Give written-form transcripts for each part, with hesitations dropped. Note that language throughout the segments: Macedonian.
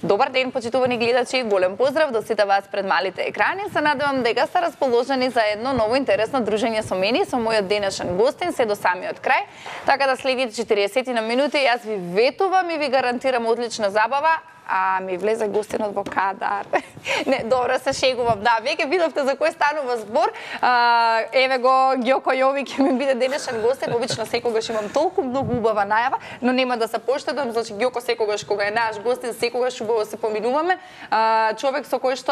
Добар ден, почитувани гледачи, голем поздрав до сите вас пред малите екрани. Се надевам дека сте расположени за едно ново интересно дружење со мене и со мојот денешен гостин се до самиот крај. Така да следите 40 на минути, јас ви ветувам и ви гарантирам одлична забава. Ми влезе гостинот во кадар. Не, добро се шегувам. Да, веќе видовте за кој станува збор. Еве го Ѓоко Јовик ќе ми биде денешен гостин. Обично секогаш имам толку многу убава најава, но нема да се поштедам, значи Ѓоко секогаш кога е наш гостин, секогаш убаво се поминуваме. Човек со кој што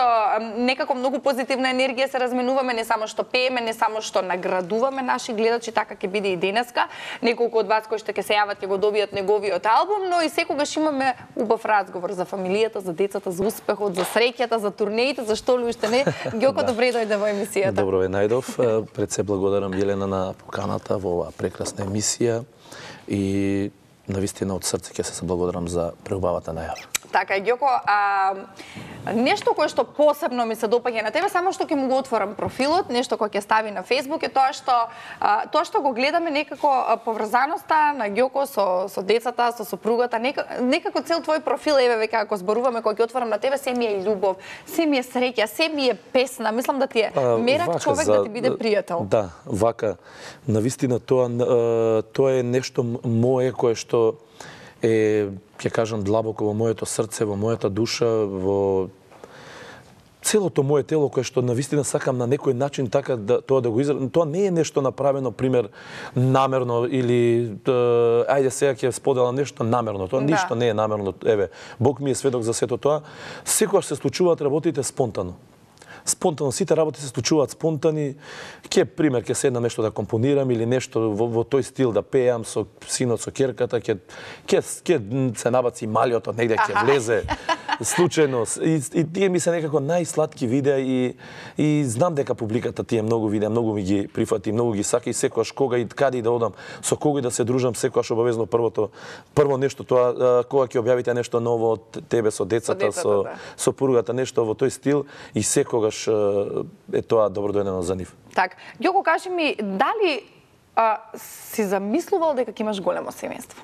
некако многу позитивна енергија се разменуваме, не само што пееме, не само што наградуваме наши гледачи, така ќе биде и денеска. Неколку од вас кои што ќе се јават ќе го добијат неговиот албум, но и секогаш имаме убав разговор за фамилијата, за децата, за успехот, за среќата, за турнеите, за што ли уште не. Ѓоко, добре дојде во емисијата. Добро ве најдов. Пред се благодарам Јелена на поканата во оваа прекрасна емисија и навистина од срце ќе се благодарам за преубавата најава. Така е, Ѓоко, нешто кое што посебно ми се допаѓа на тебе, само што ќе му го отворам профилот, нешто кое ќе стави на Facebook е тоа што го гледаме некако поврзаноста на Ѓоко со децата, со сопругата, некако цел твој профил, еве веќе ако зборуваме, кога ќе отворам на тебе, се ми е љубов, се ми е среќа, се ми е песна, мислам да ти е мерак човек да ти биде пријател. Да, вака, навистина тоа е нешто мое кое што е, ќе кажам, длабоко во моето срце, во мојата душа, во целото моје тело, кое што навистина сакам на некој начин така тоа да го изразам. Тоа не е нешто направено, пример, намерно или ајде сега ќе споделам нешто намерно. Тоа ништо не е намерно. Еве, Бог ми е сведок за сето тоа. Секогаш се случуваат работите спонтано. Спонтано, сите работи се случуваат спонтани. Пример, ќе седнам нешто да компонирам или нешто во тој стил да пеам со синот, со ќерката, ќе се набаци малјото негде, ќе влезе случајно. И тие ми се некако најсладки видеа и знам дека публиката тие многу видеа, многу ми ги прифати, многу ги сака и секогаш кога и каде и да одам, со кого да се дружам, секогаш обавезно прво нешто тоа кога ќе објавите нешто ново од тебе со децата, со поругата, нешто во тој стил и секогаш е тоа добро дојдено за нив. Так, Ѓоко, кажи ми, дали си замислувал дека ќе имаш големо семејство?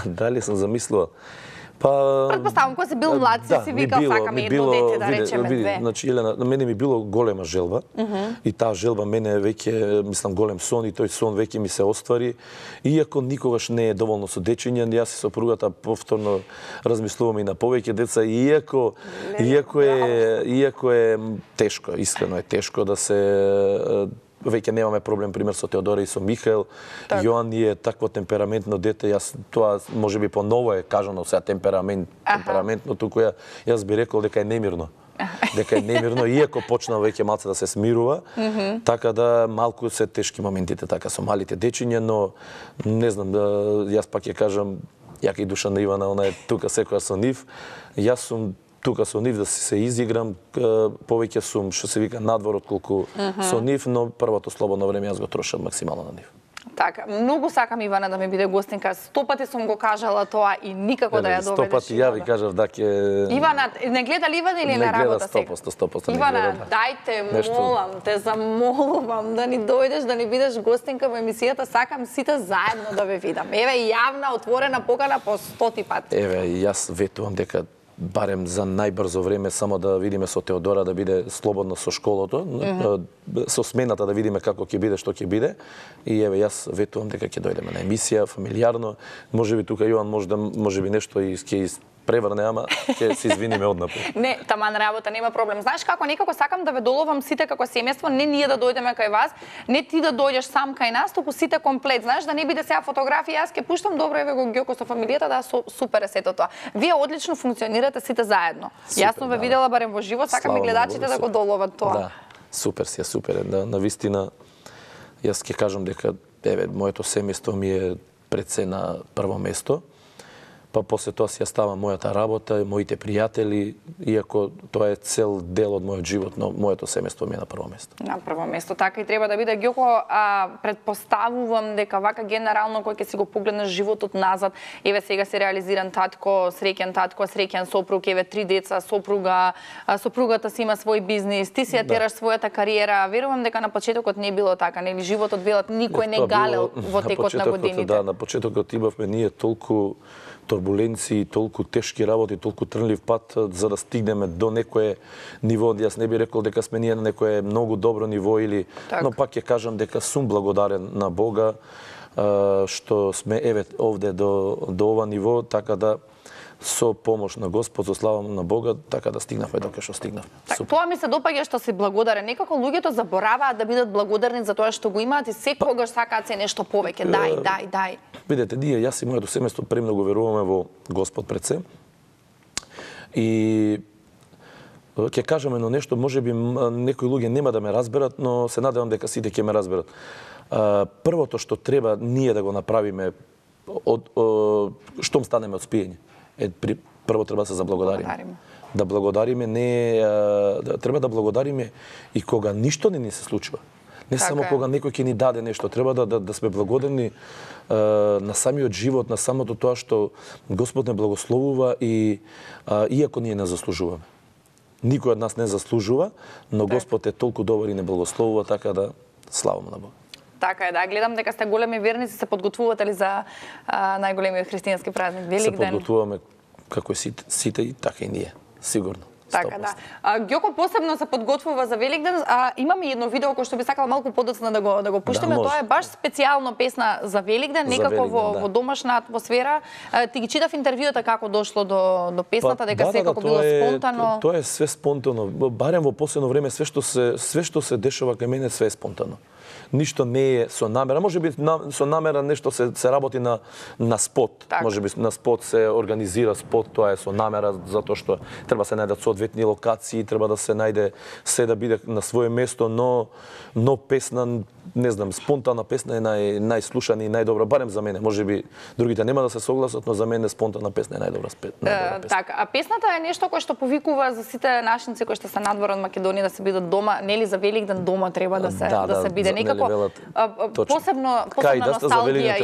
Дали сум замислувал? Предпоставам, кога си бил млад, си викал сакам едно дете, да речеме две. Значи, Елена, на мене ми било голема желба и таа желба мене веќе, мислам, голем сон и тој сон веќе ми се оствари. Иако никогаш не е доволно со дечиња, јас и сопругата повторно размислуваме и на повеќе деца, иако е тешко, искрено е тешко да се веќе немаме проблем, пример, со Теодора и со Михаел. Јоан е такво темпераментно дете, јас тоа можеби поново е кажано сега темпераментно, туку јас би рекол дека е немирно. Дека е немирно, иако почна веќе малце да се смирува, така да малку се тешки моментите така со малите дечиња, но не знам, јас пак ќе кажам, јака и душа на Ивана, она е тука секоја со нив. Јас сум тука со нив да се изиграм, повеќе сум, што се вика, надвор отколку со нив, но првото слободно време јас го трошам максимално на нив. Така, многу сакам Ивана да ми биде гостинка. 100 пати сум го кажала тоа и никако да ја доведеш. 100 пати ја ви кажав да ќе... Ивана, не гледа ли Ивана или на работа сега? Не гледа 100%. Ивана, дајте, молам, те замолувам да ни дојдеш, да ни бидеш гостинка во емисијата. Сакам сите заедно да ве видам. Еве, јавна, отворена покана по 100 пати. Еве, јас ветувам дека барем за најбрзо време само да видиме со Теодора да биде слободно со школото, со смената да видиме како ќе биде, што ќе биде. И еве јас ветувам дека ќе дојдеме на емисија фамилиарно. Можеби тука Јоан можеби нешто и ќе преврне, ама ќе се извиниме однапред. Не, таман работа, нема проблем. Знаеш како, некако сакам да ве доловам сите како семејство, не ние да дојдеме кај вас, не ти да дојдеш сам кај нас, туку сите комплет. Знаеш, да не биде сега фотографија, јас ќе пуштам, добро, еве го Ѓоко со фамилијата, да, супер е сето тоа. Вие одлично функционирате сите заедно. Јас сум ве видела барем во живо, сакам и гледачите да го доловат тоа. Да, супер си, супер е. Навистина, јас ќе кажам дека, еве, моето семејство ми е пред се на прво место. Па после тоа си ја ставам мојата работа, моите пријатели, иако тоа е цел дел од мојот живот, но моето семејство ми е на прво место. На прво место, така и треба да биде. Ѓоко, предпоставувам дека вака генерално кој ќе си го погледнеш животот назад, еве сега се реализиран татко, среќен сопруг, еве 3 деца, сопругата си има свој бизнис, ти си ја тераш својата кариера. Верувам дека на почетокот не било така, нели животот велат никој не галел во текот на годините. Да, на почетокот имавме ние толку турбуленции, толку тешки работи, толку трнлив пат за да стигнеме до некое ниво. Јас не би рекол дека сме ние на некое многу добро ниво или, но пак ќе кажам дека сум благодарен на Бога што сме еве овде до ова ниво, така да со помош на Господ, со слава на Бога, така да стигнавме дока што стигнавме. Тоа ми се допаѓа што си благодарен. Некако луѓето забораваат да бидат благодарни за тоа што го имаат и секогаш сакаат се нешто повеќе. Дај. Видете, ние, јас и моето семејство премногу веруваме во Господ пред се. И ќе кажам едно нешто, можеби некои луѓе нема да ме разберат, но се надевам дека сите ќе ме разберат. Првото што треба ние да го направиме штом станеме од спиење, прво треба да се заблагодариме. Да благодариме, треба да благодариме и кога ништо не ни се случува. Не само кога некој ќе ни даде нешто, треба да сме благодарни на самиот живот, на самото тоа што Господ не благословува и иако ние не заслужуваме. Никој од нас не заслужува, но Господ е толку добар и не благословува, така да славам на Бога. Така е, да. Гледам дека сте големи верници, се подготвувате ли за најголемиот христијански празник Великден? Се подготвуваме како и сите и така и ние, сигурно. Така, да. Ѓоко посебно се подготвува за Великден, имаме едно видео кој што би сакала малку подоцна да го пуштиме. Тоа е баш специјално песна за Великден, некако во домашна атмосфера. Ти ги читав интервјуата како дошло до песната, дека секако било спонтано. Тоа е све спонтано. Барем во последно време све што се дешава кај мене све е спонтано. Ништо не е со намера. Можеби со намера нешто се работи на спот. Можеби на спот се организира спот, тоа е со намера, затоа што треба се најдат соодветни локации, треба да се најде се да биде на свое место, но песна, не знам, спонтана песна е најслушана и најдобра, барем за мене. Можеби другите нема да се согласат, но за мене спонтана песна е најдобра песна. Така, а песната е нешто кое што повикува за сите нашинци кои што се надвор од Македонија да се бидат дома, нели за Великден дома треба да се биде некако. Посебно носталгија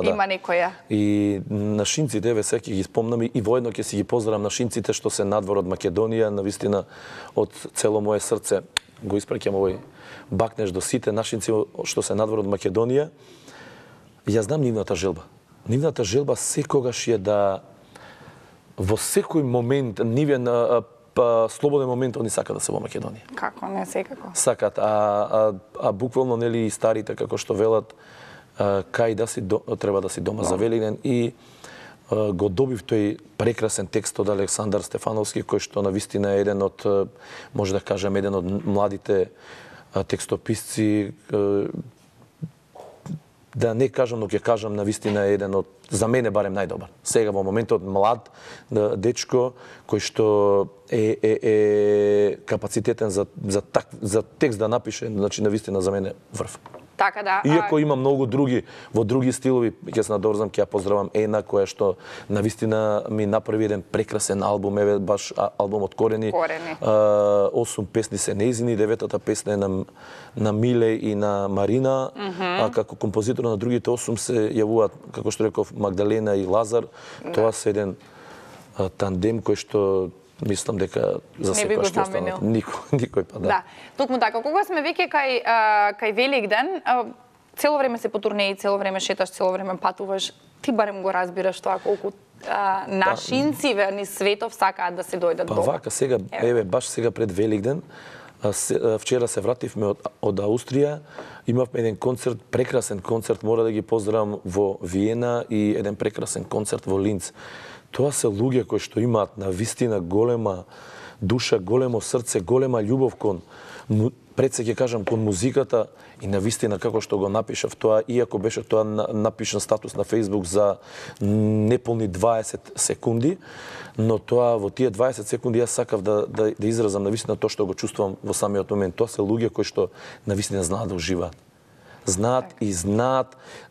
има некоја. И нашинците, еве сега ќе ги спомнам и воедно ќе си ги поздравам нашинците што се надвор од Македонија, навистина од цело мое срце го испраќам овој бакнеш до сите нашинци што се надвор од Македонија. Ја знам нивната желба. Нивната желба секогаш е да во секој момент нивен слободен момент они сакаат да се во Македонија. Како не, секако. Сакаат, а буквално нели и старите како што велат кај да си треба да си дома за Великден и го добив тој прекрасен текст од Александар Стефановски кој што навистина е еден од, може да кажам, еден од младите текстописци, да не кажам, но ќе кажам навистина е еден од, за мене барем, најдобар. Сега во моментот млад дечко кој што е капацитетен за текст да напише, значи навистина за мене врв. Така да. Иако има многу други во други стилови, ќе се надорзам, ќе ја поздравам Ена која што навистина ми направи еден прекрасен албум, еве баш албумот Корени. 8 песни се нејзини, 9-та песна е на Миле и на Марина, а како композитор на другите 8 се јавуваат, како што реков, Магдалена и Лазар. Тоа се еден тандем кој што мислам дека за секој што останат. Никој па да. Токму така, кога сме веќе кај Великден, цело време се по турнеи, цело време шеташ, цело време патуваш, ти барем го разбираш тоа колку нашинци ни светов сакаат да се дојдат дома. Па вака сега, еве баш сега пред Великден, вчера се вративме од Аустрија, имавме еден концерт, прекрасен концерт, мора да ги поздравам, во Виена и еден прекрасен концерт во Линц. Тоа се луѓе кои што имаат навистина голема душа, големо срце, голема љубов кон, пред се ќе кажам, кон музиката и навистина како што го напишав тоа, иако беше тоа напишан статус на Facebook за неполни 20 секунди, но тоа во тие 20 секунди јас сакав да изразам навистина тоа што го чувствувам во самиот момент. Тоа се луѓе кои што навистина знаат да уживаат. Знаат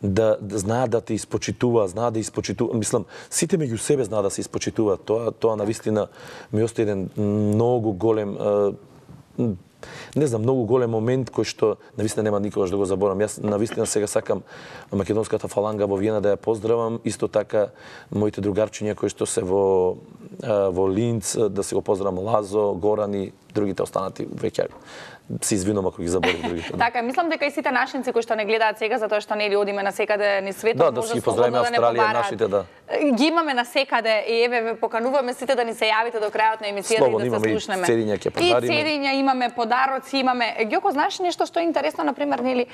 да те испочитуваат, знаат да испочитуваат. Мислам, сите меѓу себе знаат да се испочитуваат. Тоа навистина ми остана еден многу голем не знам, многу голем момент кој што навистина нема никогаш да го заборам. Јас навистина сега сакам македонската фаланга во Виена да ја поздравам, исто така моите другарчиња кои што се во Линц, да се го поздравам Лазо, Горан и другите останати веќе се извинувам ако ги заборив другите. Така, мислам дека и сите нашинци кои што не гледаат сега затоа што нели одиме на секаде низ светот, да си ги поздравиме Австралија, нашите, да. ги имаме на секаде и еве ве покануваме сите да ни се јавите до крајот на емисијата и да се слушнеме. И цедиња ќе подариме. И цедиња имаме, подароци имаме. Ѓоко, знаеш нешто што е интересно, например, нели,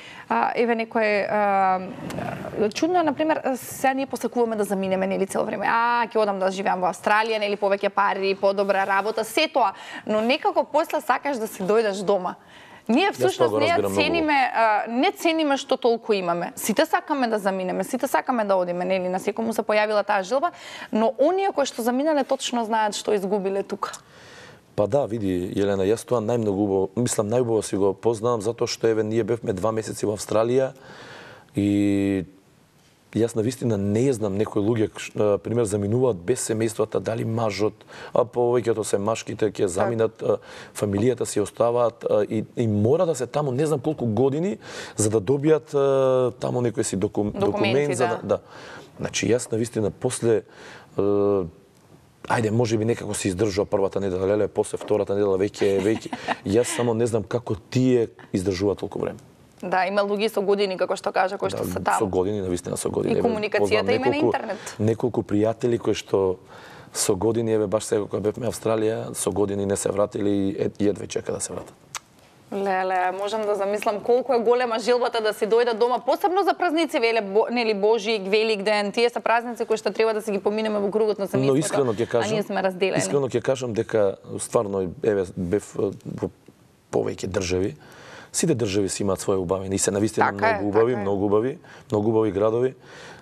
еве некој чудно е, например, сега ние посакуваме да заминеме, нели, цело време. Ќе одам да живеам во Австралија, нели, повеќе пари, подобра работа, се тоа, но некако после сакаш да се дојдеш дома. Ние всушност не цениме што толку имаме. Сите сакаме да заминеме, сите сакаме да одиме, нели, на секому се појавила таа желба, но оние кои што заминале точно знаат што изгубиле тука. Па да, види, Јелена, јас тоа најубаво си го познавам, затоа што еве ние бевме 2 месеци во Австралија и јас навистина не знам некои луѓе, пример, заминуваат без семејствата, дали мажот, а повеќето се машките ќе заминат, фамилијата си оставаат и мора да се таму не знам колку години за да добијат таму некој си документ за да. Значи јас навистина после ајде, можеби некако се издржува првата недела, леле, после втората недела веќе јас само не знам како тие издржуваат толку време. Да, има луѓе со години, како што кажа, кои што се таму. Со години, навистина со години. И комуникацијата има на интернет. Неколку пријатели кои што со години, еве баш сега кога бевме Австралија, со години не се вратили и едве чека да се вратат. Леле, можам да замислам колку е голема желбата да си дојдат дома, посебно за празници, нели, Божи, Великден, тие се празници кои што треба да си ги поминеме во кругот на семејството. Но искрено ќе кажам, а ние сме разделени. Искрено ќе кажам дека стварно еве бев во повеќе држави. Сите држави си имаат своје убавини и се навистина многу убави градови,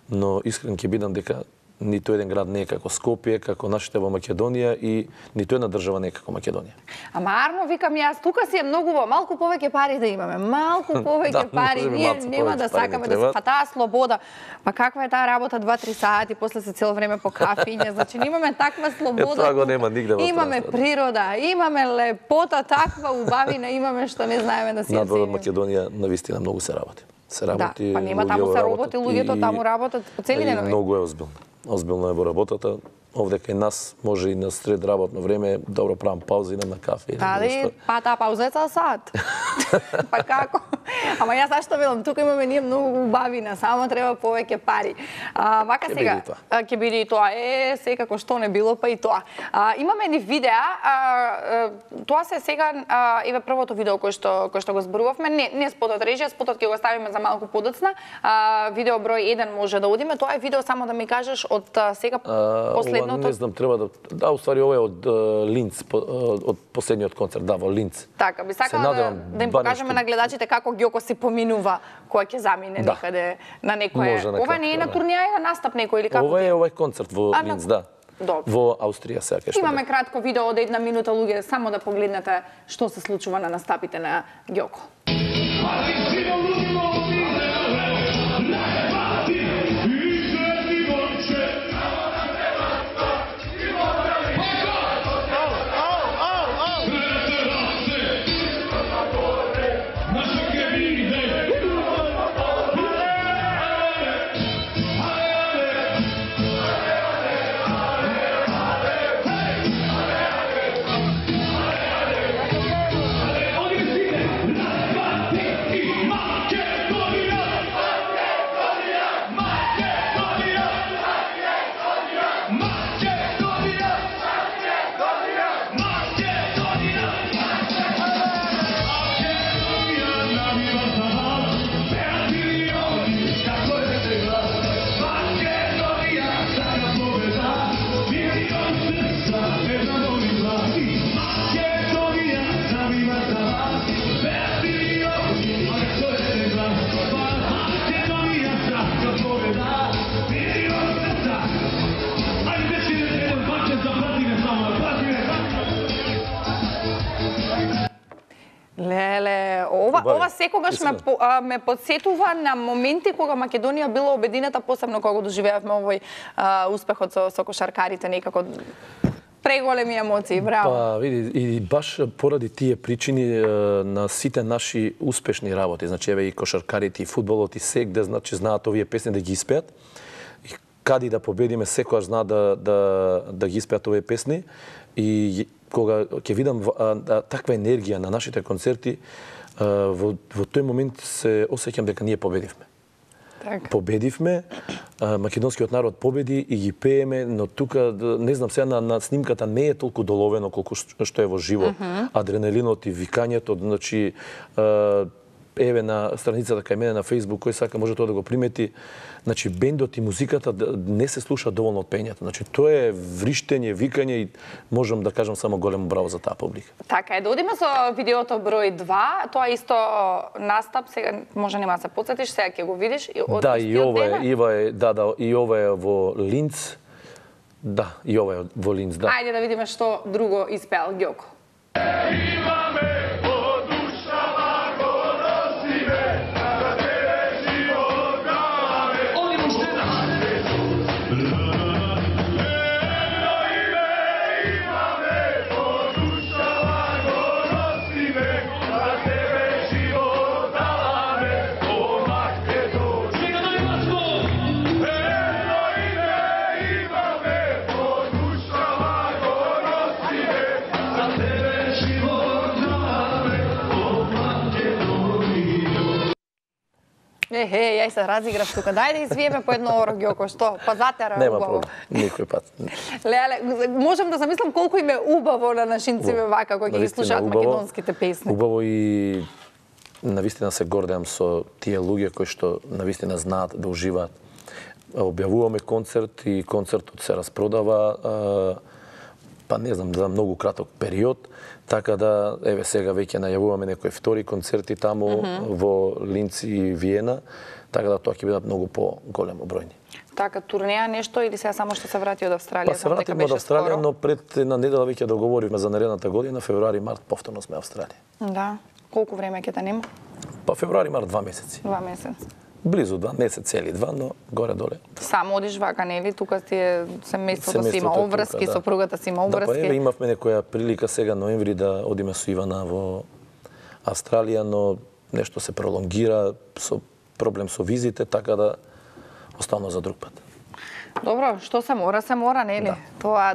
но искрен ќе бидам дека ниту еден град не е како Скопје, како нашите во Македонија и ниту една држава не е како Македонија. Ама Арно, викам јас, тука си е многу малку повеќе пари да имаме, малку повеќе пари, ние нема да сакаме да се таа слобода. Па каква е таа работа 2-3 сати, после се цело време по кафиња, значи имаме таква слобода. Тоа го нема нигде во имаме природа, имаме лепота, таква убавина имаме што не знаеме да си ја цениме. Надвор од Македонија навистина многу се работи. Да, па нема таму се работи, луѓето таму работат по цели денови. Многу е озбилно. Озбилно е во работата. Овде кај нас може и на сред работно време добро правам пауза, идам на кафе. Па таа пауза е цел сат. Па како? Ама јас зашто велам, тука имаме ние многу убавина, само треба повеќе пари. Вака сега ќе биде и тоа. Секако што не било, па и тоа. Имаме ни видеа, тоа се сега еве првото видео кој што го зборувавме, не спотот режија, спотот ќе го ставиме за малку подоцна. Видео број 1 може да одиме, тоа е видео само да ми кажеш од сега последното. Не знам, треба да уствари ова е од Линц, од последниот концерт, да, во Линц. Така, би сакала да им покажеме на гледачите како Ѓоко си поминува кој ќе замине некаде на некое. Ова не е на турнеја, е на настап некој или како? Ова е овој концерт во Линц, да. Во Аустрија сега кај што. Имаме кратко видео од 1 минута, луѓе, само да погледнете што се случува на настапите на Ѓоко. Леле, ова секогаш ме подсетува на моменти кога Македонија била обединета, посебно кога го доживеавме овој успехот со кошаркарите, некако преголеми емоции, браво. Па, види, и баш поради тие причини на сите наши успешни работи, значи еве и кошаркарите, и фудбалот, и сегде, значи знаат овие песни да ги испеат. И кади да победиме, секогаш знаат да ги испеат овие песни. И кога ќе видам таква енергија на нашите концерти, во тој момент се осеќам дека ние победивме. Победивме, македонскиот народ победи и ги пееме, но тука, не знам, сега на снимката не е толку доловено колку што е во живо. Адреналинот и викањето, значи, еве на страницата кај мене на Facebook, кој сака може тоа да го примети, значи бендот и музиката не се слуша доволно од пењето. Значи тоа е вриштење, викање и можам да кажам само големо браво за таа публика. Така е, да одиме со видеото број 2, тоа исто настап, сега може нема да се потсетиш, сега ќе го видиш и од да, и ова е во Линц. Да, и ова е во Линц, да. Ајде да видиме што друго испеал Ѓоко. Јај се разиграв тука. Дај да извиеме по едно оро, Ѓоко, што? Па затера нема убаво. проблем, никој пат. Леле, можам да замислам колку им е убаво на нашинциве вака кои ги слушаат македонските песни. Убаво и навистина се гордеам со тие луѓе кои што навистина знаат да уживаат. Објавуваме концерт и концертот се распродава, па не знам, за многу краток период, така да, еве сега веќе најавуваме некои втори концерти таму во Линц и Виена, така да тоа ќе бидат многу по-големо бројни. Така, турнеја нешто или сега само што се врати од Австралија? Па се вративме од Австралија, но пред една недела веќе договоривме за наредната година, февруари-март, повторно сме Австралија. Да. Колку време ќе те нема? Па февруари-март 2 месеци. 2 месеци. Близу 2 месеци, цели 2, но горе-доле. Само одиш вака, нели? Тука ти е семејството си има обврски, да. Сопругата си има обврски. Да, па еве имавме некоја прилика сега ноември да одиме со Ивана во Австралија, но нешто се пролонгира, со проблем со визите, така да останува за друг пат. Добро, што се мора, нели? Да.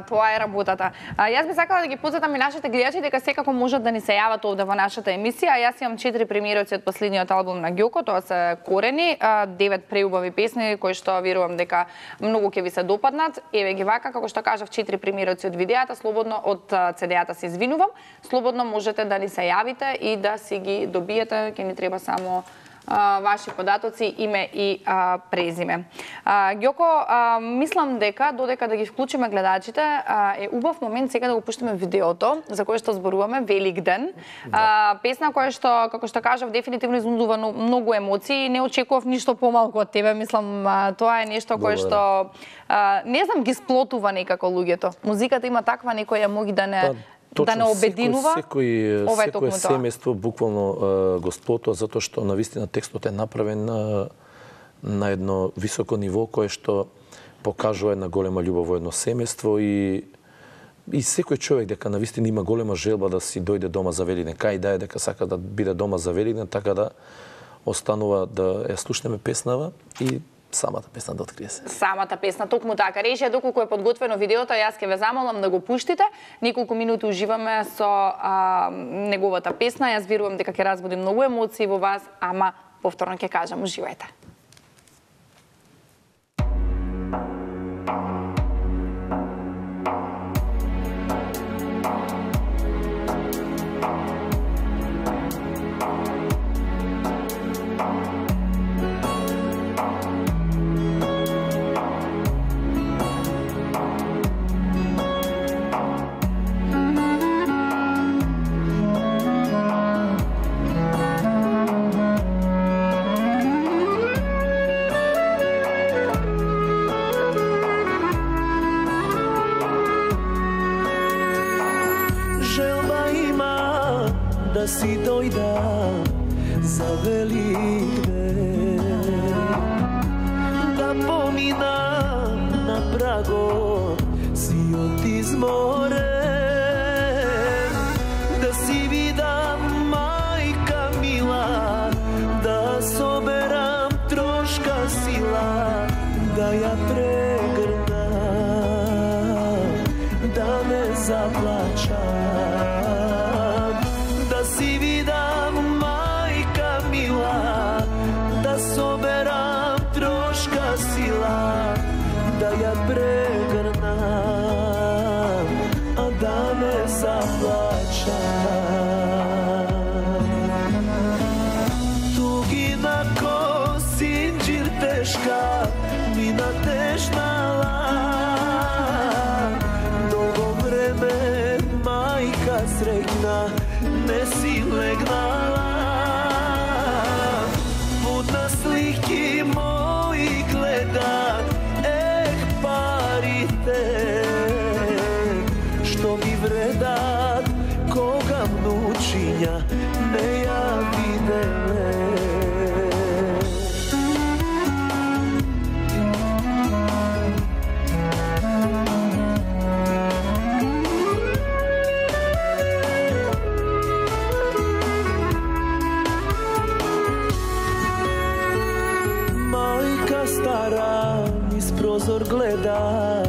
Тоа е работата. Јас би сакала да ги подсетам и нашите гледачи дека секако можат да ни се јават овде во нашата емисија. Јас имам 4 премиерици од последниот албум на Ѓоко, тоа се Корени, 9 преубави песни кои што верувам дека многу ќе ви се допаднат. Еве ги вака, како што кажав, 4 премиерици од видеата, слободно од CD-ата се извинувам. Слободно можете да ни се јавите и да си ги добиете, ќе ни треба само ваши податоци, име и презиме. Ѓоко, мислам дека додека да ги вклучиме гледачите, е убав момент сега да го пуштиме видеото за кое што зборуваме, Велик ден. Песна која што, како што кажав, дефинитивно изнудува многу емоции. Не очекував ништо помалку од тебе. Мислам, тоа е нешто кое што не знам, ги сплотува некако луѓето. Музиката има таква некоја моги да не Точно, да не обединува. Секој семејство буквално го сплотува, затоа што навистина текстот е направен на едно високо ниво кое што покажува една голема љубов во едно семејство и секој човек дека навистина има голема желба да си дојде дома за Великден, кај да е дека сака да биде дома за Великден, така да останува да ја слушнеме песнава и самата песна да открие се. Самата песна, токму така. Рече, доколку е подготвено видеото, јас ќе ве замолам да го пуштите. Неколку минути уживаме со неговата песна. Јас верувам дека ќе разбуди многу емоции во вас, ама повторно ќе кажам, уживајте. Da si doјда за Великден, да поминам на прагот сиот изморен, да си видам мајка мила, да соберам трошка сила, да ја прегрнам, да не заплачам. Si vidam, majka mila, da soberam ја прегрна, а да не заплача. Тугина ко синџир тешка, мина тежнала. Долго време мајка среќна, не си легнала. Будна слики мои гледа, парите што ми вредат, кога внучиња не ја виделе. Стара низ прозор гледа,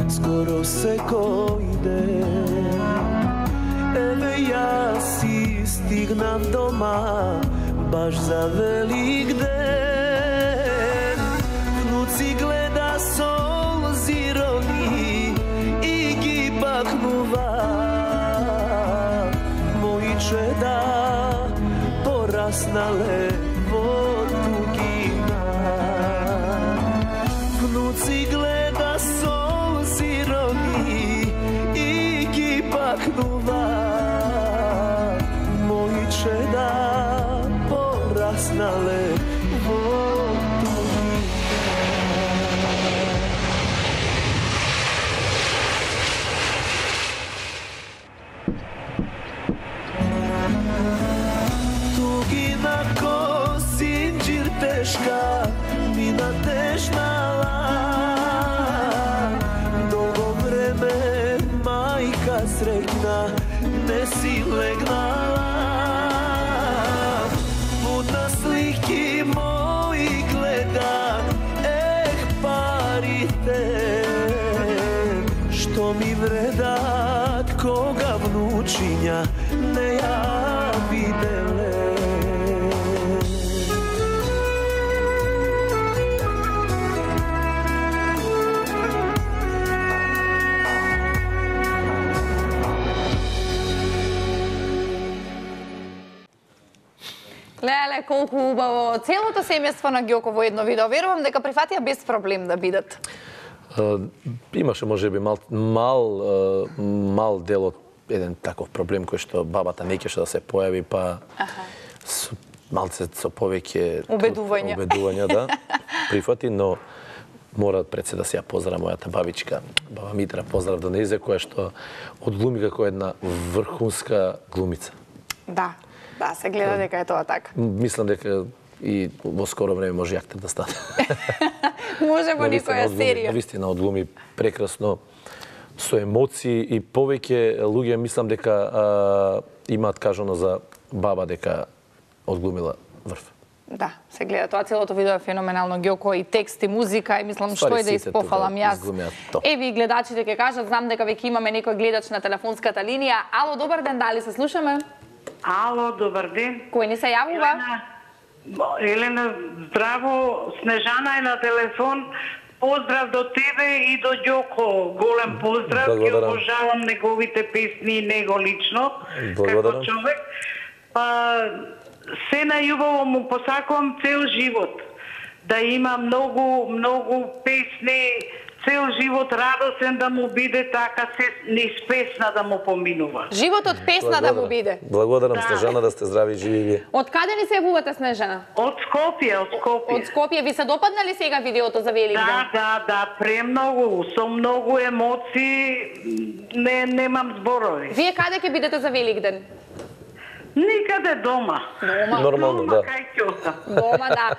скоро секој ден. Еве јас си стигнав дома, баш за Велик ден. Внуци гледа солзи рони и ги бакнува. Мои чеда пораснале во тугина. Внуци гледа солзи рони и ги бакнува. Мои чеда пораснале во тугина. Тугина ко синџир тешка, мина тежнала. Долго време мајка среќна, не си легнала. Будна слики мои гледа, парите што ми вредат, кога внучиња не ја виделе. Леле, колку убаво. Целото семејство на Ѓоко во едно видео. Верувам дека прифатија без проблем да бидат. Имаше можеби мал дел од еден таков проблем кој што бабата не кеше да се појави, па малце со повеќе убедувања да прифати, но мора пред се да се ја поздравам мојата бабичка, баба Митра, поздрав до нејзе, која што одглуми како една врхунска глумица. Да. Да, се гледа дека е тоа така. Мислам дека и во скоро време може актер да стане. Може во некоја серија. Навистина одглуми прекрасно, со емоции и повеќе луѓе мислам дека имаат кажано за баба дека одглумила врв. Да, се гледа тоа, целото видео е феноменално, Ѓоко и текст и музика и мислам што е да испофалам јас. Еви гледачите ќе кажат, знам дека веќе имаме некој гледач на телефонската линија. Ало, добар ден, дали се слушаме? Ало, добар ден. Кој ни се јавува? Елена, здраво. Снежана е на телефон. Поздрав до тебе и до Ѓоко. Голем поздрав. Ќе обожавам неговите песни и него лично. Како човек. Се најубаво му посакувам цел живот. Да има многу песни, цел живот радосен да му биде, така се низ песна да му поминува. Животот песна да му биде. Благодарам, Снежана, да сте здрави и живи вие. Од каде ни се јавувате, Снежана? Од Скопје, од Скопје. Од Скопје. Ви се допадна ли сега видеото за Велик ден? Да, премногу, со многу емоции, немам зборови. Вие каде ќе бидете за Велик ден? Никаде дома. Нормално, да. Дома, да.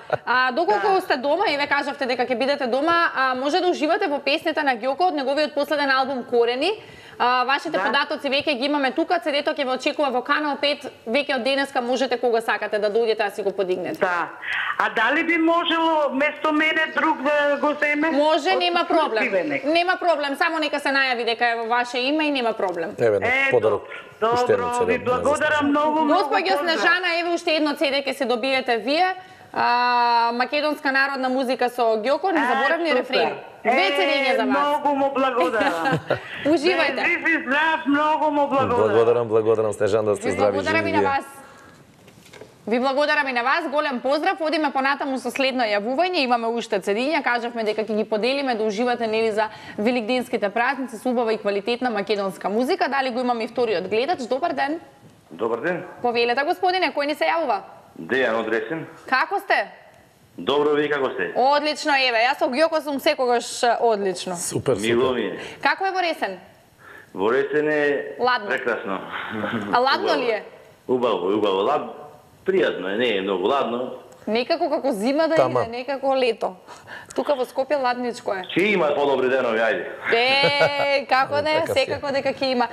Доколку сте дома и ве кажавте дека ќе бидете дома, може да уживате во песните на Ѓоко од неговиот последен албум Корени. Вашите податоци веќе ги имаме тука, CD-то ќе ве очекува во Канал 5, веќе од денеска можете кога сакате да дојдете да си го подигнете. Да. А дали би можело место мене друг да го земе? Може, нема проблем. Нема проблем, само нека се најави дека е во ваше име и нема проблем. Еве на подарок. Добро, ви благодарам многу. Господјо Снежана, еве уште едно CD ќе се добиете вие. Македонска народна музика со Ѓоко, незаборавни рефрени. Две цедења за вас. Многу му благодарам. Уживајте. Жив и здрав, многу му благодарам. Благодарам Снежан да сте Ви здрави благодарам и на вас. Ви благодарам и на вас, голем поздрав. Одиме понатаму со следно јавување. Имаме уште цедиња, кажавме дека ќе ги поделиме да уживате нели за великденските празници со убава и квалитетна македонска музика. Дали го имаме и вториот гледач? Добар ден. Добар ден. Повелете, господине, кој ни се јавува? Дејан од Ресен. Како сте? Добро, ви како сте? Одлично, еве, јас со Ѓоко сум секогаш одлично. Супер, Мило супер. ми е. Како е во Ресен? Во Ресен е Ладно. прекрасно. А ладно ли е? Убаво. Пријатно е, не е многу ладно. Некако како зима да Тама. иде, некако лето. Тука во Скопје ладничко е. Ќе има подобри денови, ајде. Како не, Така си е. секако дека ќе има.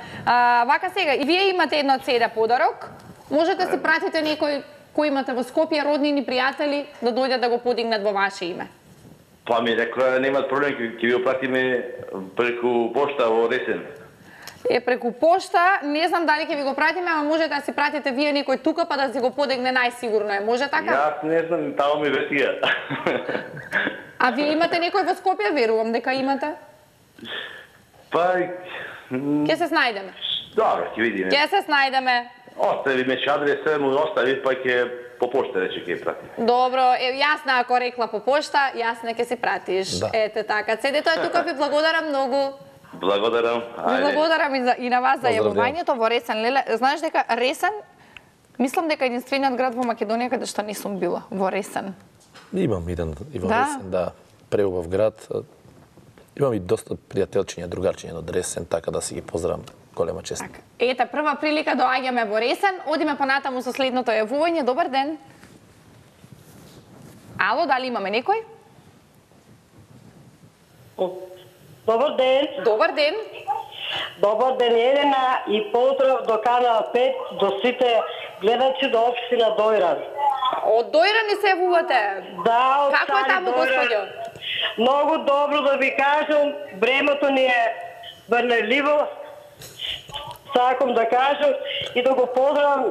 Вака сега, и вие имате едно CD подарок. Можете да си пратите некој кој имате во Скопје, роднини, пријатели, да дојдат да го подигнат во ваше име. Па ми рекоа, немаат проблем, ќе ви го пратиме преку пошта во Ресен. Преку пошта, не знам дали ќе ви го пратиме, ама може да си пратите вие некој тука па да си го подигне, најсигурно е. Може така? Јас не знам, тамо ми вестија. А вие имате некој во Скопје, верувам дека имате? Па, Ќе се снајдеме. добро, ќе видиме. Ќе се снајдеме. Остави ме адреса, му остави, па ќе по пошта рече ќе прати. Добро, јасна ако рекла по пошта, јасна ќе си пратиш. Да. Ете така. Цедето е тука, ви благодарам многу. Благодарам. Ви благодарам и на вас за Поздрав, јавувањето во Ресен. Леле, знаеш дека Ресен, мислам дека единствениот град во Македонија каде што не сум била, во Ресен. Имам еден и во Да? Ресен, да, преубав град. Имам и доста пријателчиња, другарчиња од Ресен, така да си ги поздравам. Голема чест. Така. Ете, прва прилика доаѓаме во Ресен. Одиме понатаму со следното јавување. Добар ден. Ало, дали имаме некој? Добар ден. Добар ден. Добар ден, Елена, и поздрав до Канал 5, до сите гледачи до општина Дојран. Од Дојран ни се јавувате. Да, од Како е Стари таму, Дојран. господјо? Многу добро да ви кажам, времето ни е врнеливо. Сакам да кажам и да го поздравам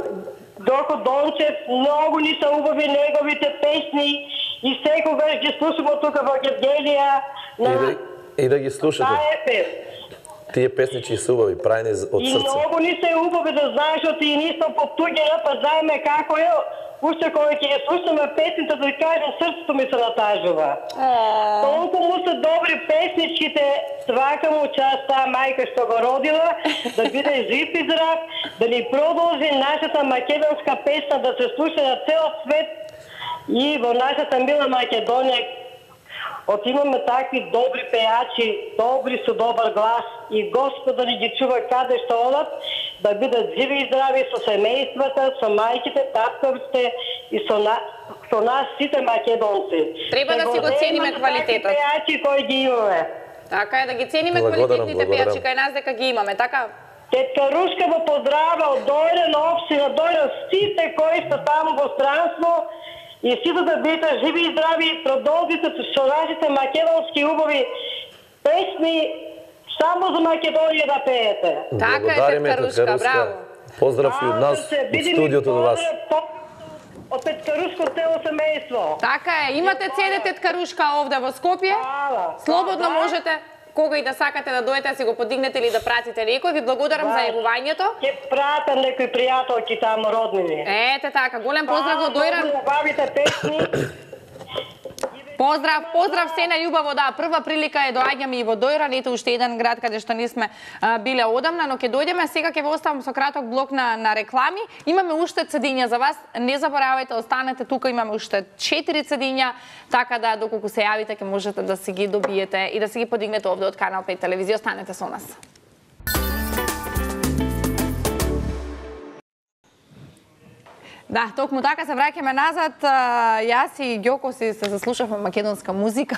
Доко Дончев, многу ни се убави неговите песни и секогаш ги слушаме тука во Гевгелија на И да ги слушате. АЕП. Тие песничи се убави, прајни од И срце. многу ни се убави да знаеш оти и нисмо потуѓена, па знаеме како е. Уште кој ќе ја слушаме песните, да кажем, срцето ми се натажува. Толку му се добри песничките, свака му част таа мајка што го родила, да биде жив и здрав, да ни продолжи нашата македонска песна да се слуша на цел свет и во нашата мила Македонија. От имаме такви добри пејачи, добри со добар глас и Господ да ни ги чува каде што одат, да бидат живи и здрави со семејствата, со мајките, таткавите и со нас сите македонци. Треба да си го цениме квалитетот. Такви пејачи кои ги имаме. Така е, да ги цениме Благодарам, квалитетните благодарам. пејачи кај нас дека ги имаме, така? Тетка Рушка во поздрава од Дојран, општина Дојран, сите кои се таму во странство и сите да бидете живи и здрави, продолжите со нашите македонски убави песни, само за Македонија да пеете. Така е, Благодариме, Тетка Рушка, браво. Поздрав и од нас, од студиото до вас. Од Тетка Рушко цело семејство. Така е, имате CD Тетка Рушка овде во Скопје. Хвала. Слободно Да. можете кога и да сакате да дојдете да си го подигнете или да пратите некој. Ви благодарам за јавувањето. Ќе пратам некои пријателки таму роднини. Ете така, голем поздрав до Дојран. Убавите песни. Поздрав се на љубаво, да, прва прилика е доаѓаме и во Дојран, ете уште еден град каде што не сме биле одамна, но ќе дојдеме, сега ќе ве оставам со краток блок на реклами. Имаме уште цедиња за вас, не заборавајте, останете тука, имаме уште 4 цедиња, така да доколку се јавите ќе можете да си ги добиете и да си ги подигнете овде од Канал 5 телевизија, останете со нас. Да, токму така се враќаме назад. Јас и Ѓоко се заслушавме македонска музика.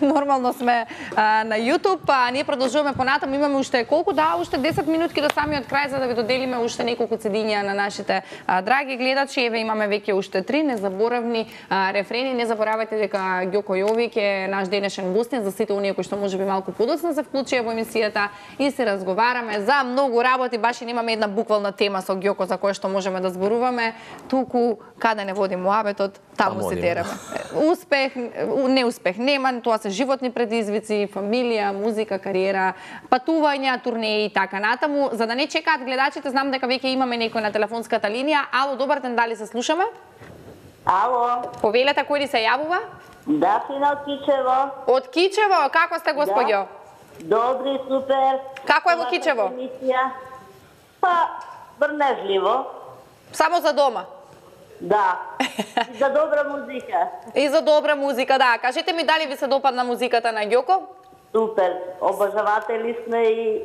Нормално сме на YouTube, а ние продолжуваме понатаму. Имаме уште колку? Да, уште 10 минутки до самиот крај за да ви доделиме уште неколку цедиња на нашите драги гледачи. Еве имаме веќе уште 3 незаборавни рефрени. Не заборавајте дека Ѓоко Јовик е наш денешен гостин за сите оние кои што можеби малку подоцна се вклучија во емисијата и се разговараме за многу работи. Баш и немаме една буквална тема со Ѓоко за која што можеме да зборуваме. туку каде не води муабетот, таму се тераме. Успех, неуспех нема, тоа се животни предизвици, фамилија, музика, кариера, патувања, турнеи и така натаму. За да не чекаат гледачите, знам дека веќе имаме некој на телефонската линија. Ало, добар ден, дали се слушаме? Ало. Повелете, кој ни се јавува? Да, Фина од Кичево. Од Кичево, како сте, господјо? Добри, супер. Како е во Кичево? Па, врнежливо. Само за дома? Да. И за добра музика. И за добра музика, да. Кажете ми дали ви се допадна музиката на Ѓоко? Супер. Обожаватели сме и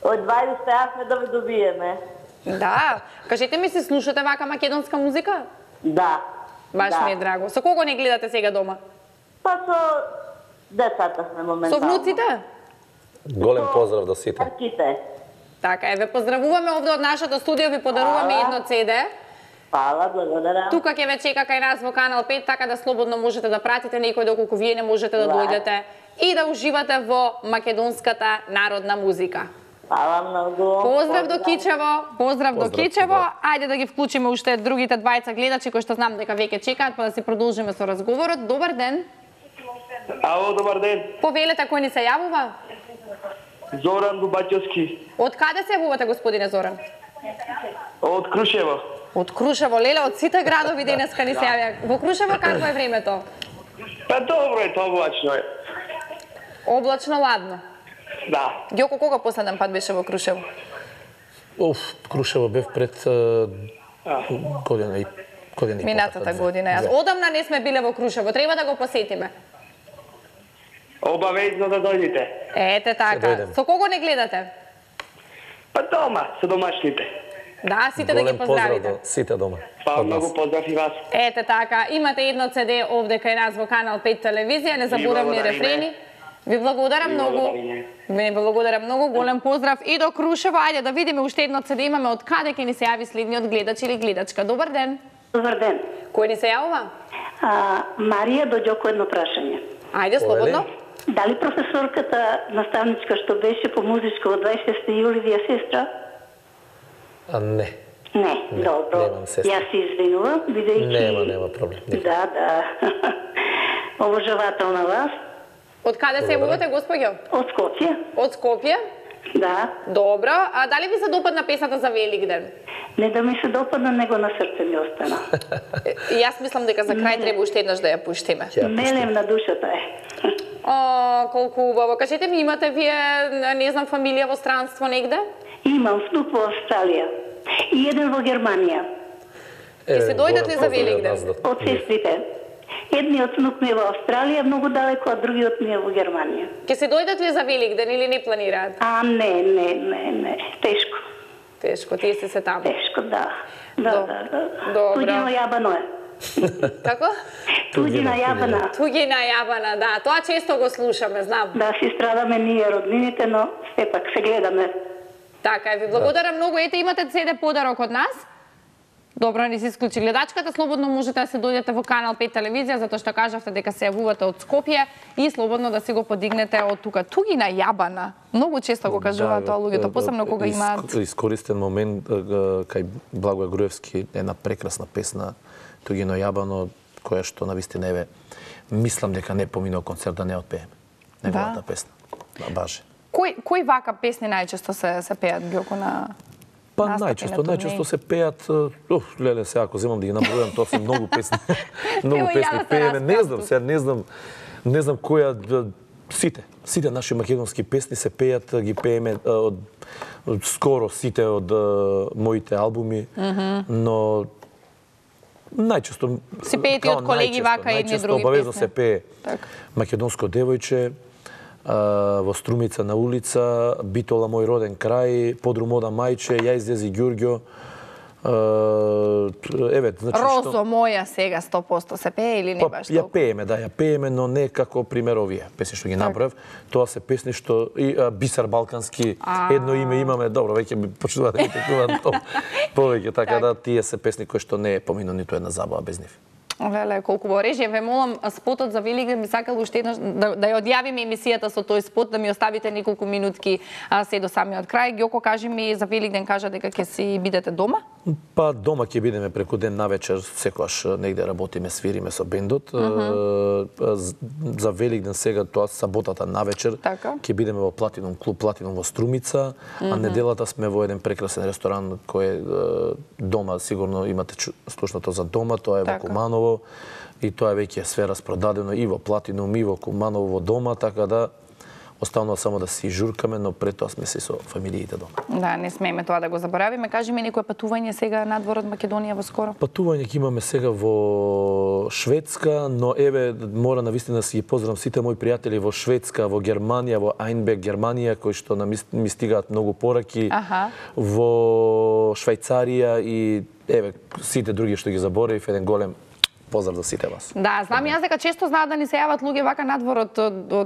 одва успеавме да ви добиеме. Да. Кажете ми, се слушате вака македонска музика? Да. Баш ми е драго. Со кого не гледате сега дома? Па со децата сме моментално. Со внуците? Голем поздрав до сите. Арките. Така е, ве поздравуваме овде од нашето студио, ви подаруваме едно CD. Фала, благодарам. Тука ќе ве чека кај нас во Канал 5, така да слободно можете да пратите некој доколку вие не можете да дојдете и да уживате во македонската народна музика. Фала многу. Поздрав до Кичево, поздрав до Кичево. Ајде да ги вклучиме уште другите двајца гледачи кои што знам дека веќе чекаат, па да си продолжиме со разговорот. Добар ден. Ало, добар ден. Повелете, кој ни се јавува? Зоран Дубачевски. Од каде се јавувате, господине Зоран? Од Крушево. Од Крушево, леле, од сите градови денеска ни се јавија. Во Крушево какво е времето? Па добро е, облачно е. Облачно, ладно. Да. Ѓоко, кога последен пат беше во Крушево? Крушево бев пред година и минатата година. Јас одамна не сме биле во Крушево, треба да го посетиме. Обавезно да дојдете. Ете така. Со кого не гледате? Па дома, со домашните. Да, сите да ги поздравите. Голем поздрав до сите дома. Па многу поздрав и вас. Ете така, имате едно CD овде кај нас во Канал 5 телевизија, незаборавни рефрени. Ви благодарам многу. Ви благодарам многу, голем поздрав и до Крушево. Ајде да видиме уште едно CD имаме од каде ќе ни се јави следниот гледач или гледачка. Добар ден. Добар ден. Кој ни се јавува? Марија, до Ѓоко едно прашање. Ајде, слободно. Дали професорката наставничка што беше по музичко од 26 јули ви е сестра? Не. Не, добро. Немам сестра. Јас се извинувам, бидејќи... Нема проблем. Да, да. Обожавателна вас. Од каде се јавувате, господјо? Од Скопје. Од Скопје? Да. Добро. А дали ви се допадна песната за Великден? Не да ми се допадна, него на срце ми остана. Јас мислам дека за крај треба уште еднаш да ја пуштиме. Мелем на душата е. О, колку убаво. Кажете ми, имате вие, не знам, фамилија во странство негде? Имам внук во Австралија и еден во Германија. Ке се дојдат ли за Великден? Од сестрите. Едниот внук ми е во Австралија, многу далеко, а другиот ми е во Германија. Ке се дојдат ли за Великден или не планираат? Не. Тешко. Тешко, тие се таму. Тешко, да. Да. Добро. Туѓино јабано е. Како? Туѓина јабана. Туѓина јабана, да. Тоа често го слушаме, знам. Да, си страдаме ние роднините, но сепак се гледаме. Така е, ви благодарам многу. Ете, имате CD подарок од нас. Добро, не се исклучи гледачката. Слободно можете да се дојдете во Канал 5 телевизија, затоа што кажавте дека се јавувате од Скопје и слободно да си го подигнете од тука. Туѓина јабана. Многу често го кажуваат тоа луѓето, посебно кога имаат... Искористен момент кај Благој Груевски, една прекрасна песна Туѓино јабано, која што навистина еве мислам дека не поминал концерт да не отпееме. Неговата песна. Баше. Кои вака песни најчесто се пеат, Ѓоко, на... Па најчесто се пеат, леле сега ако земам да ги набројам, тоа се многу песни. Многу песни пееме, не знам која сите наши македонски песни се пеат, ги пееме од скоро сите од моите албуми, но најчесто си пеете од колеги вака едни други песни. Обавезно се пее Македонско девојче, во Струмица на улица, Битола мој роден крај, Подрум ода мајче, Ја излези Ѓурѓо. Еве, значи Розо моја сега 100% се пее или не баш толку? Ја пееме, но не како пример овие песни што ги набрав. Тоа се песни што и Бисер Балкански, едно име имаме, добро, веќе ми почнува да ми текнуваат повеќе, така да тие се песни кои што не е поминал ниту една забава без нив. Леле, колку во режија, ве молам спотот за Великден би сакал уште еднаш да ја одјавиме емисијата со тој спот, да ми оставите неколку минутки се до самиот крај. Ѓоко, кажи ми за Великден, кажа дека ќе си бидете дома? Па дома ќе бидеме преку ден навечер, секогаш негде работиме, свириме со бендот. За Великден сега тоа саботата навечер ќе бидеме во Платинум клуб Платинум во Струмица, а неделата сме во еден прекрасен ресторан кој е дома, сигурно имате слушнато за дома, тоа е во Куманово и тоа е веќе све распродадено и во Платинум и во Куманово во дома, така да останува само да си журкаме, но пред тоа сме се со фамилиите дома. Да, не смееме тоа да го заборавиме. Кажи ми некое патување сега надвор од Македонија во скоро? Патување ќе имаме сега во Шведска, но еве мора навистина да си ги поздравам сите мои пријатели во Шведска, во Германија, во Ајнбек, Германија, кои што ми стигаат многу пораки, во Швајцарија и еве сите други што ги заборавив, еден голем поздрав за сите вас. Да, знам јас дека често знаат да ни се јават луѓе вака надвор од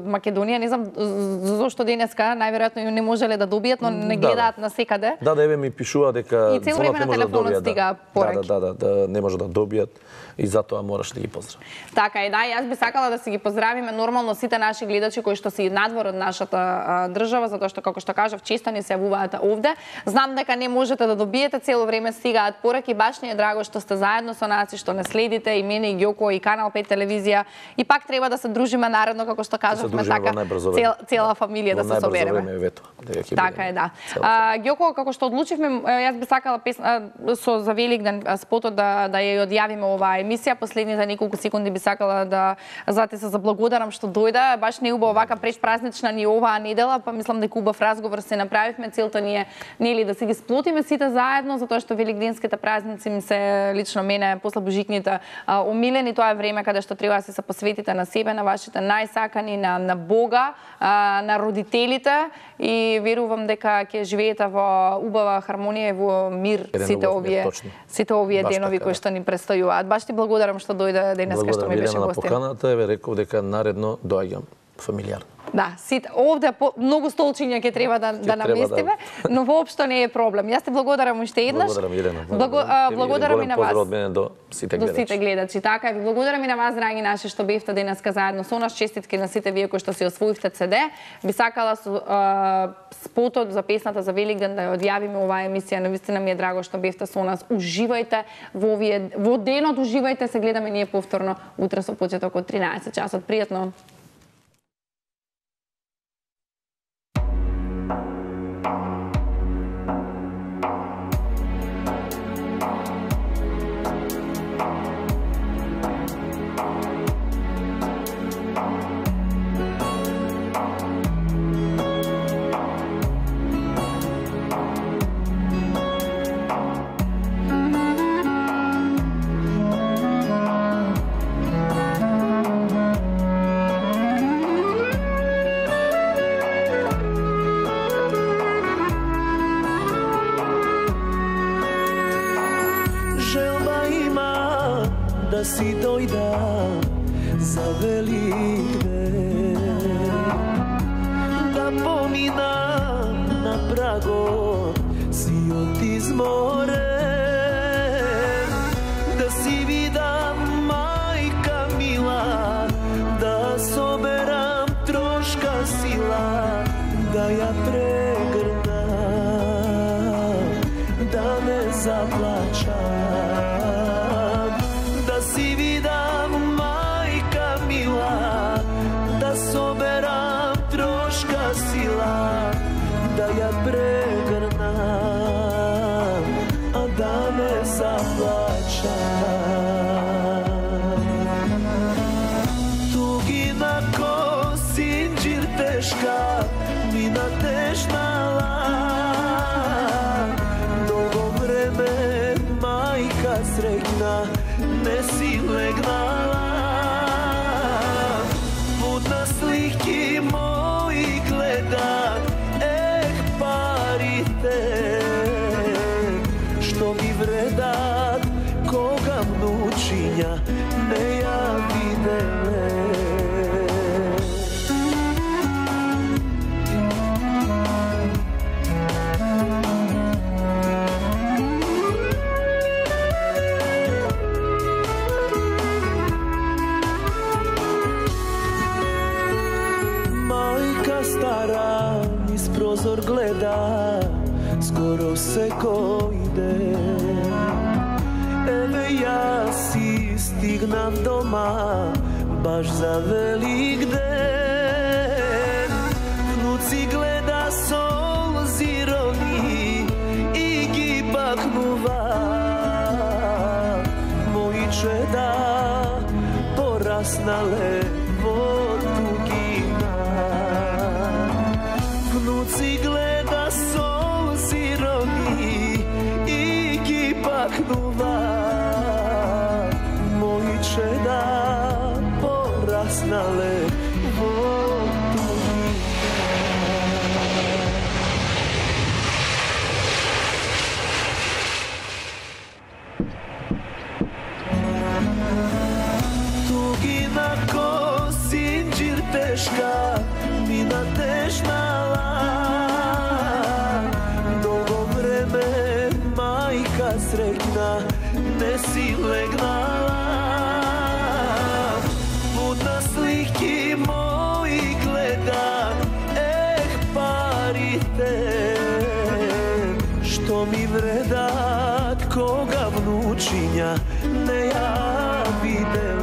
Македонија, не знам зошто денеска најверојатно не можеле да добијат, но не гледаат на секаде. Да, еве ми пишува дека и цел време на телефонот стига пораки. Да, не може да добијат и затоа мораш да ги поздравиш. Така е, да, јас би сакала да си ги поздравиме нормално сите наши гледачи кои што си надвор од нашата држава, затоа што како што кажав често ни се јавуваат овде. Знам дека не можете да добиете, цело време стигаат пораки, баш ни е драго што сте заедно со нас и што не следите и мене и Ѓоко и Канал 5 телевизија и пак треба да се дружиме наредно како што кажавме, така цела фамилија да се собереме. Така е, да. Ѓоко, како што одлучивме, јас би сакала со за Великден спотот да ја одјавиме оваа емисија. Последните неколку секунди би сакала да зате се заблагодарам што дојде. Баш не убаво вака предпразнична ни оваа недела, па мислам дека убав разговор се направивме. Целта ни е нели да се ги сплотиме сите заедно, затоа што великденските празници ми се лично мене после божикните омилени. Тоа е време каде што треба да се посветите на себе, на вашите најсакани, на Бога, на родителите и верувам дека ќе живеете во убава хармонија и во мир сите овие денови кои што ни предстојуваат. Баш ти благодарам што дојде денеска што ми беше гостин. Поканата, еве реков дека наредно доаѓам фамилијарно. Да, сите овде многу столчиња ќе треба да наместиме, но воопшто не е проблем. Јас ти благодарам уште еднаш. Благодарам, Елена. Благодарам и на вас. Поздрав од мене до сите гледачи. До сите гледачи, така. Ви благодарам и на вас, драги наши, што бевте денеска заедно со нас. Честитки на сите вие кои што си освоивте CD. Би сакала со спотот за песната за Великден да ја одјавиме оваа емисија. Навистина ми е драго што бевте со нас. Уживајте во денот, уживајте, се гледаме ние повторно утре со почеток од 13 часот. Пријатно. Da si doјда за Великден, да поминам на прагот си од изморен, да си видам мајка мила, да соберам трошка сила, да ја прегрнам, да не заплачам. Si vidam majka mila, da soberam troška sila, da ja pregrnam, a da ne zaplačam. Tugina ko sinđir teška, mina tešnala, dugo vreme majka srećna, ne si legnala, put na sliki moji gleda, parite, što mi vredat, koga vnučinja ne ja videle. Stara iz prozor gleda, скоро секој ден. Еве јас си стигнав дома, баш за Велик ден. Внуци гледа солзи рони и ги бакнува. Мои чеда пораснале во тугина. Внуци гледа солзи рони и ги бакнува. Мои чеда пораснале во тугина. Тугина ко синџир тешка, мина тешнала. Долго време мајка среќна не си легнала. Будна слики мои гледа, парите што ми вредат кога внучиња не ја видела.